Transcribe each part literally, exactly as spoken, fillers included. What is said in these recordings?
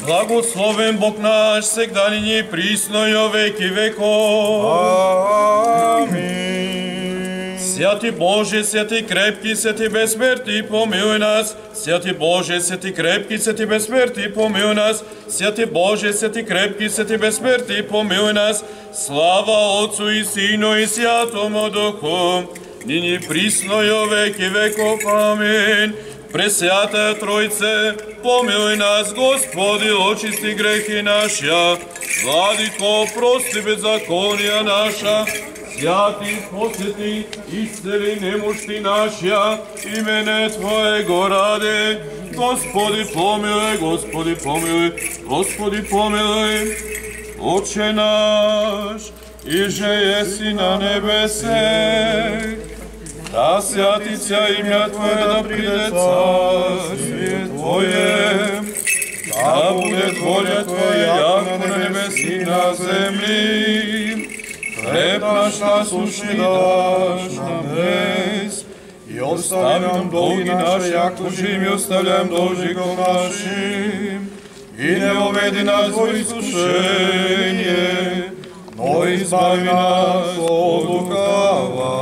Благословен Бог наш, сегда нині и присно и во веки веков. Амин. Святи Боже, святи крепки, святи безсмертни, помилуй нас. Святи Боже, святи крепки, святи безсмертни, помилуй нас. Святи Боже, святи крепки, святи безсмертни, помилуй нас. Слава Отцу и Сину и Святому Духу, нині присно и во веки веков. Амин. Пресвятая Троице, помилуй нас, Господи, очисти грехи наши. Владико, прости беззаконија наша. Святи, посети, исцели немощи наши, имене Твоего ради. Господи, помилуй, Господи, помилуй, Господи, помилуй. Отче наш, иже еси на небесе, да святится имя Твое, да приде царствие Твое, да будет воля Твоя, яко на небеси и на земли. Хлеб наш насущный дашь нам днес, и остави нам долги наши, яко же и оставляем должников нашим, и не уведи нас во искушение, но избави нас от лукавого.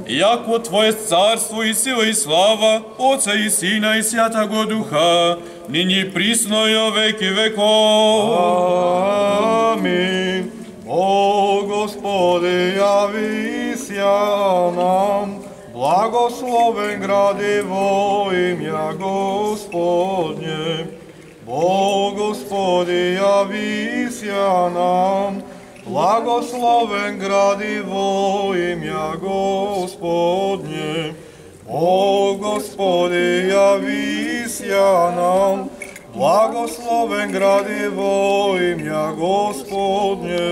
Яко Твое царство и сила и слава, Отца и Сина и Святого Духа, нині присно и во веки веков. Амин. О Господи, явися нам, благословен гради во имя Господне. О Господи, явися нам, благословен гради во имя Господне. О Господи, явися нам, благословен гради во имя Господне.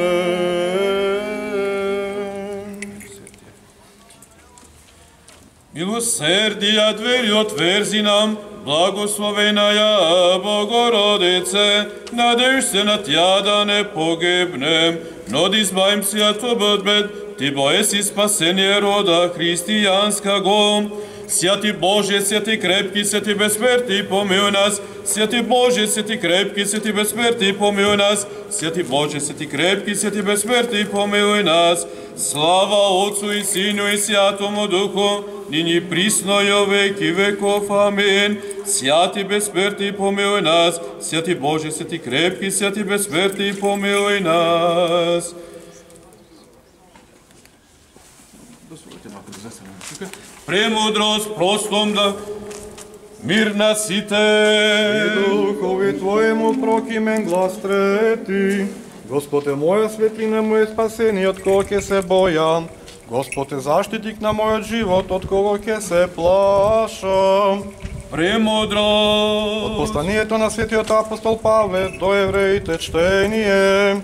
Милосердија двери отверзи нам, благословеная Богородице, надеж се на Тя да не погибнем, но да избавим се от бед, Ти бо еси спасение рода христијанского. Святи Боже, святи крепки, святи безсмертни, помилуй нас. Святи Боже, святи крепки, святи безсмертни, помилуй нас. Святи Боже, святи крепки, святи безсмертни, помилуй нас. Слава Отцу и Сину и Святому Духу, нині присно и во веки веков. Амин. Святи безсмертни, помилуй нас. Святи Боже, святи крепки, святи безсмертни, помилуй нас. Премудрост простом да мир на сите. И духови Твоему прокимен глас трети. Господ е моја светлина, моје спасение, од кого ќе се бојам. Господ е заштитник на мојот живот, од кого ќе се плашам. Премудрост. Од посланието на светиот апостол Павле до евреите чтение.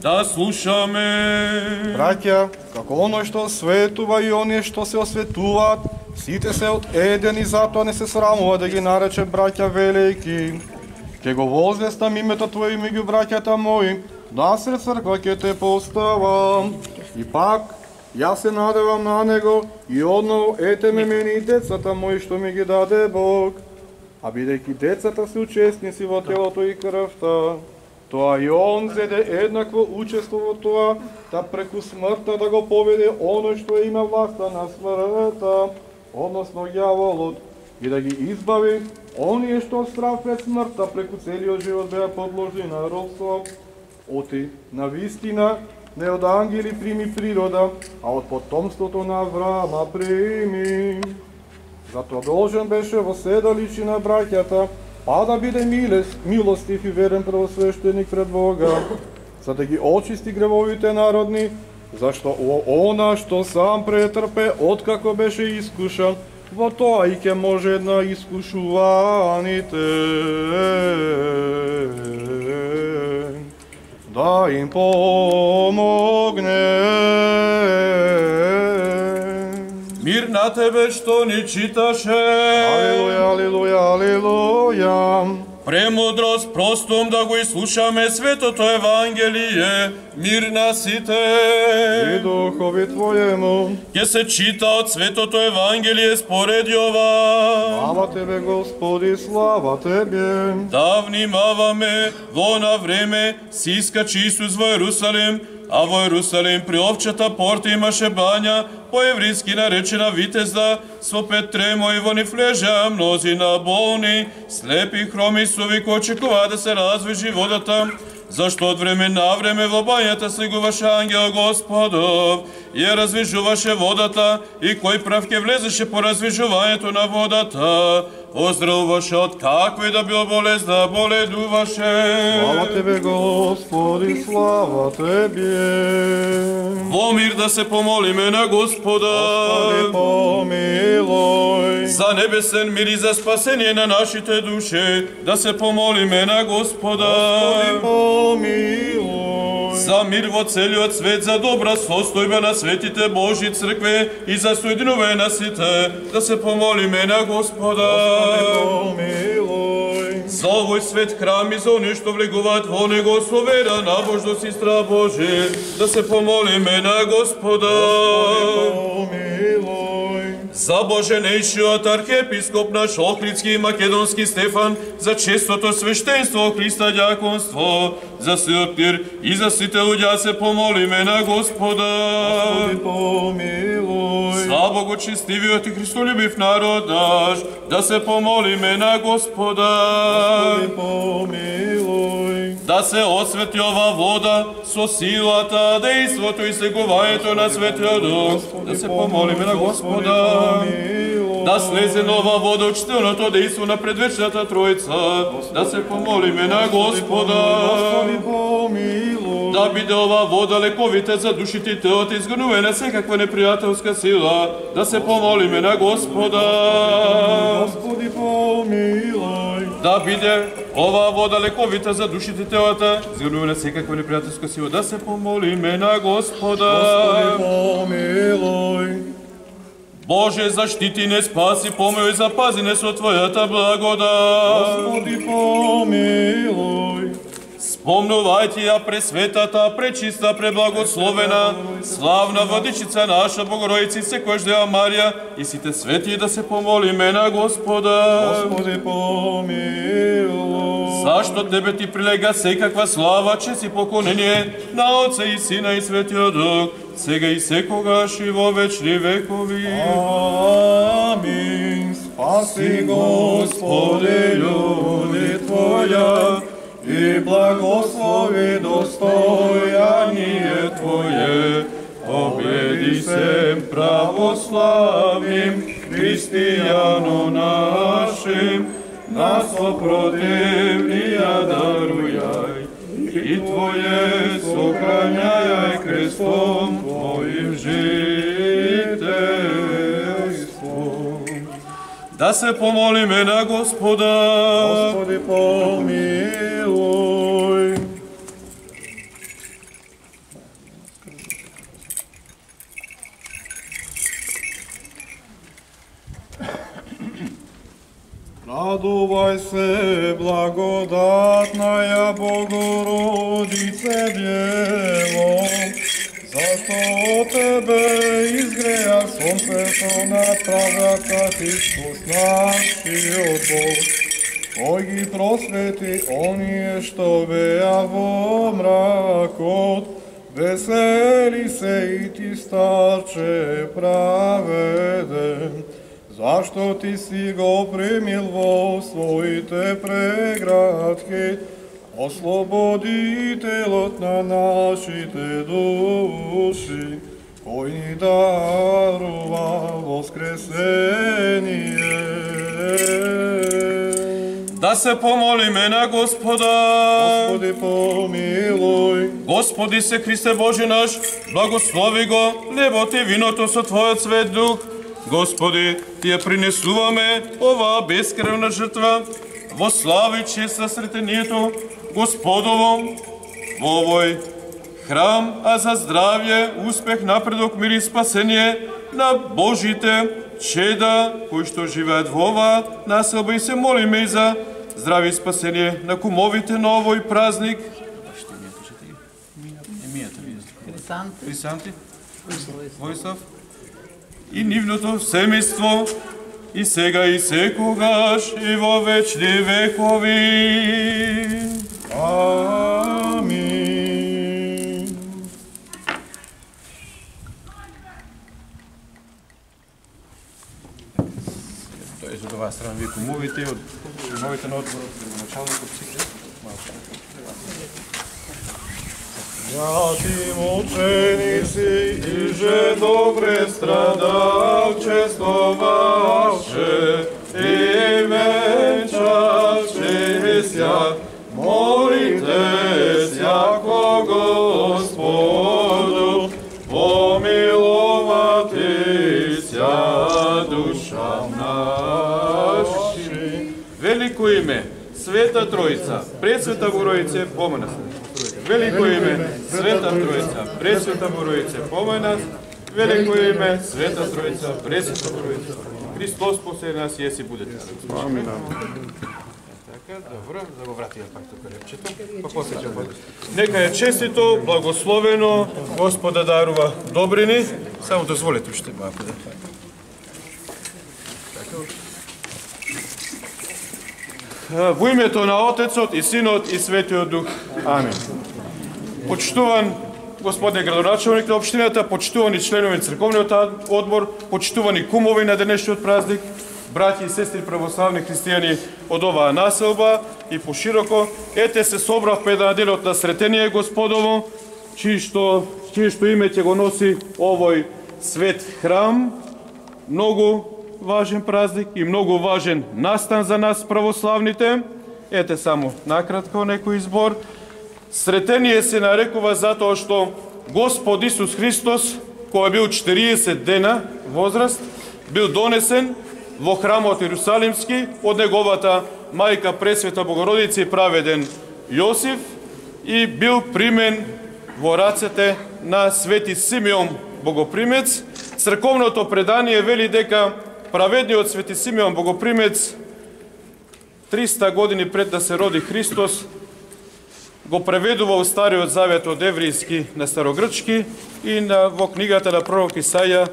Да слушаме. Браќа, како оној што светува и оние што се осветуваат, сите се од еден и затоа не се срамува да ги нарече браќа велики. Ке го возвестам името Твое меѓу браќата мои, насред црква ке те поставам. И пак, јас се надевам на него и одново ете ме мене и децата мои што ми ги даде Бог. А бидејќи децата се учесници во телото и крвта, тоа и он зеде еднакво учество во тоа, да преку смртта да го поведе оној што има власта на смртта, односно ѓаволот, и да ги избави оние што страв пред смртта преку целиот живот беа подложени на робство. Оти, на вистина, не од ангели прими природа, а од потомството на Авраама прими. Затоа должен беше во седалище на браќата, па да биде милостив и верен првосвещеник пред Бога, за да ги очисти гревовите народни, зашто она што сам претрпе откако беше искушан, во тоа и ќе може на искушуваните да им помогне. Мир на тебе што ни читаше. Алилуја, алилуја, алилуја. премудрост простом да го изслушаме светото Евангелие, мир на сите. И духови Твоему. Ке се чита од светото Евангелие според Јован. Слава Тебе, Господи, слава Тебе. Да внимаваме, во на време си искачи Исус во Јерусалим, а во Јерусалим при овчата порта имаше бања, по евријски наречена Витезда, со пет тремои во нив лежеа мнозина болни, слепи, хроми, суви, кои очекуваа да се развижи водата, зашто од време на време во бањата слегуваше ангел Господов и ја развижуваше водата, и кој прав ке влезеше по развижувањето на водата, оздравуваше од каква и да бил болест да боледуваше. Слава Тебе, Господи, слава Тебе. Во мир да се помолиме на Господа. Господи, помилуј. За небесен мир и за спасение на нашите души да се помолиме на Господа. Господи, помилуј. За мир во целиот свет, за добра состојба на светите Божји цркве и за соединување на сите да се помолиме на Господа. Помилуј. За овој свет храм и за оние што влегуваат во него со вера, набожност и страх Божи, да се помолиме на Господа. Помилуј. За Боженејшиот архиепископ наш Охридски и Македонски Стефан, за честото свештенство Христа дјаконство, за сиот мир и за сите луѓе се помолиме на Господа. Господи, помилуј. За богочестивиот и христолюбив народ наш, да се помолиме на Господа. Господи, помилуј. Да се освети ова вода со силата, дејството и слегувањето на Светиот Дух, да се помолиме на Господа. Да слезе нова вода од чтилното дејство на предвечната Тројца, да се помолиме на Господа. Господи, помилуј. Да биде ова вода лековите за душите и телото, изгонување на секаква непријателска сила, да се помолиме на Господа. Господи, помилуј. Да биде ова вода лековита за душите и телата, изгонување на секаква непријателска сила, да се помолиме на Господа. Господи, помилуј. Боже, заштити не, спаси, помилуј, запази не со Твојата благодат. Господи, помилуј. Спомнувајте ја пресветата, пречиста, преблагословена, славна владичица наша Богородица и секојаш Дева Марија и сите свети да се помолиме на Господа. Господи, помилуј. Зашто Тебе Ти прилега секаква слава, чест и поклонение на Отца и Сина и Светиот Дух, сега и секогаш и во вечни векови. Амин. Спаси, Господи, људи Твоја, и благослови достојание Твое, победи се православим христијано нашим, нас опротивнија дарујај, и Твое сохрањај крестом Твоим жителством. Да се помолиме на Господа. Господи, помилуј. Радувај се, благодатнаја Богородице Дево, зашто од Тебе изгреја сонцето на правдата Христос нашиот Бог, кој ги просвети оние што беа во мракот. Весели се и ти, старче праведен, зашто ти си го примил во своите преградки, ослободителот на нашите души, кој ни дарува воскресение. Да се помолиме на Господа. Господи, помилуј. Господи се Христе Боже наш, благослови го небото и виното со Твојот свет дух. Господи, Ти ја принесуваме оваа бескревна жртва во слава и чест на сретението Господово во овој храм, а за здравје, успех, напредок, мир и спасение на Божите чеда кои што живеат во оваа населба, и се молиме и за здраве и спасение на кумовите на овој празник. Хрисанти, Војслав и нивното семејство и сега и секогаш и во вечни векови. Амин. Тоа е за оваа страна вие кумовите од кумовите на одборот началникот сите. Святи мученици, и же добре страдалчествоваше и венчаше ся, молите сяко Господу, помиловати ся душа наши. Велико име, Света Троица, Пресвета Богородице, помој нас. Велико име, Света Троица, Пресвета Богородице, помој нас. Велико име, Света Троица, Пресвета Богородице. Христос после нас јеси будете. Амин. Така, добро, да го вратиме пак тука репчето. Па после ќе бъде. Нека е честито, благословено, Господа дарува добрини. Само дозволете уште малку да. Во името на Отецот и Синот и Светиот Дух. Амин. Почитуван господне градоначалник на општината, почитувани членови на црковниот одбор, почитувани кумови на денешниот празник, браќи и сестри православни христијани од оваа населба и пошироко, ете се собравме на денот на Сретение Господово, чие што, чие што име ќе го носи овој свет храм, многу важен празник и многу важен настан за нас православните. Ете само накратко некој избор. Сретение се нарекува затоа што Господ Исус Христос, кој бил четириесет дена возраст, бил донесен во храмот Иерусалимски од неговата мајка Пресвета Богородица и праведен Јосиф и бил примен во рацете на Свети Симеон Богопримец. Црковното предание вели дека праведниот Свети Симеон Богопримец триста години пред да се роди Христос го преведува во Стариот Завет од еврејски на старогрчки и на, во книгата на пророк Исаја,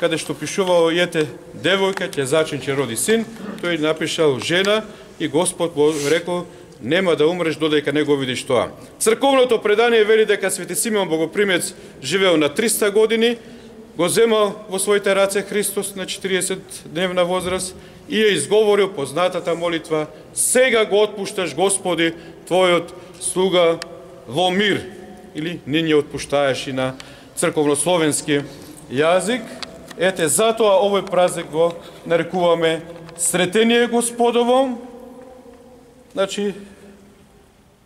каде што пишувало ете девојка ќе зачне ќе роди син, тој напишал жена и Господ го рекол нема да умреш додека не го видиш тоа. Црковното предание вели дека Свети Симеон Богопримец живеел на триста години, го земал во своите раце Христос на четириесет дневна возраст и ја изговорил познатата молитва: сега го отпушташ Господи твојот слуга во мир, или не ни отпуштаеш и на црковнословенски јазик. Ете, затоа овој празник го нарекуваме Сретение Господово, значи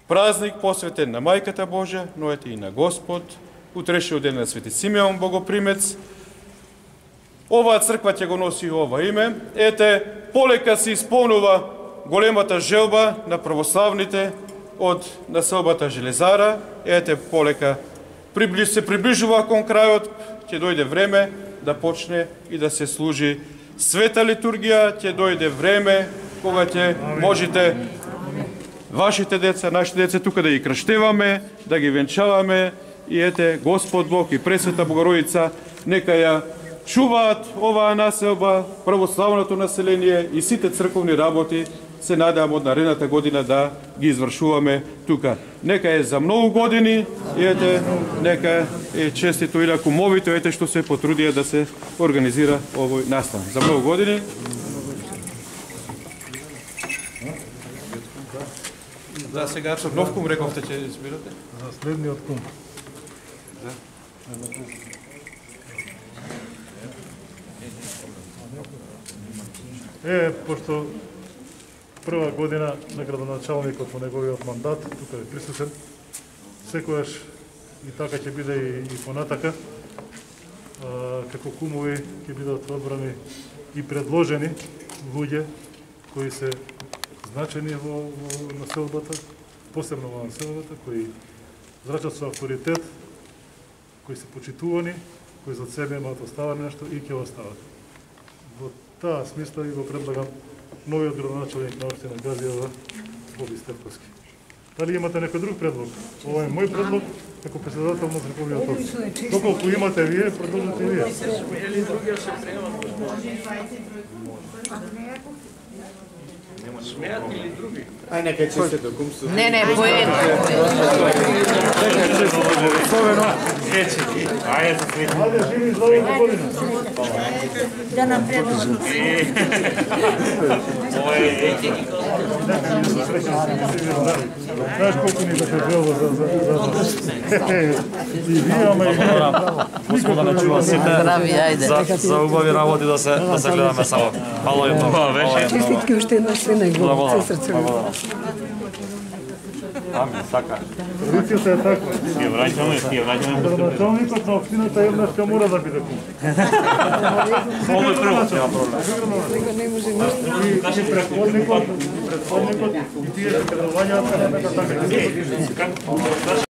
празник посветен на Мајката Божја, но ете и на Господ, утрешниот ден на Свети Симеон Богопримец. Оваа црква ќе го носи ова име. Ете, полека се исполнува големата желба на православните од населбата Железара. Ете, полека се приближува кон крајот, ќе дојде време да почне и да се служи света литургија, ќе дојде време кога ќе можете вашите деца, нашите деца тука да ги крштеваме, да ги венчаваме и ете Господ Бог и Пресвета Богородица нека ја чуваат оваа населба, православното население и сите црковни работи се надевам од наредната година да ги извршуваме тука. Нека е за многу години и ете, нека е честито и на кумовите, ете што се потрудија да се организира овој настан. За многу години. Да, сега со нов кум рековте ќе избирате? За следниот кум. Да. Е, пошто прва година на градоначалникот во неговиот мандат, тука е присутен, секојаш и така ќе биде и, и понатака, а, како кумови ќе бидат одбрани и предложени луѓе кои се значени во, во населбата, посебно во населбата, кои зрачат со авторитет, кои се почитувани, кои за себе имаат оставане нешто и ќе остават. Во таа смисла и го предлагам новиот градоначалник на општина Газиева, Боби Стефковски. Дали имате некој друг предлог? Ова е мој предлог како председател на Црковниот општин. Доколку имате вие, предложете и вие. Смеат или други? Ај нека честе до кумство. Не, не, поедно. Ајде, живи здраве година. Да нам предложат. Знаеш колку ни да се желба за... И вие, ама и вие. Господа не чува сите Здрави, ајде. за, за убави работи да се да се гледаме само. Мало и много. Честитки уште една све најголемо се срце. Ами, така. Традицијата е таква. Ќе враќаме, ќе враќаме. Градоначалникот на општината еднашка мора да биде кум. Ovo je prvo, nema проблем. Него не може ништо. И предходникот, предходникот и тие што предувањаат така така.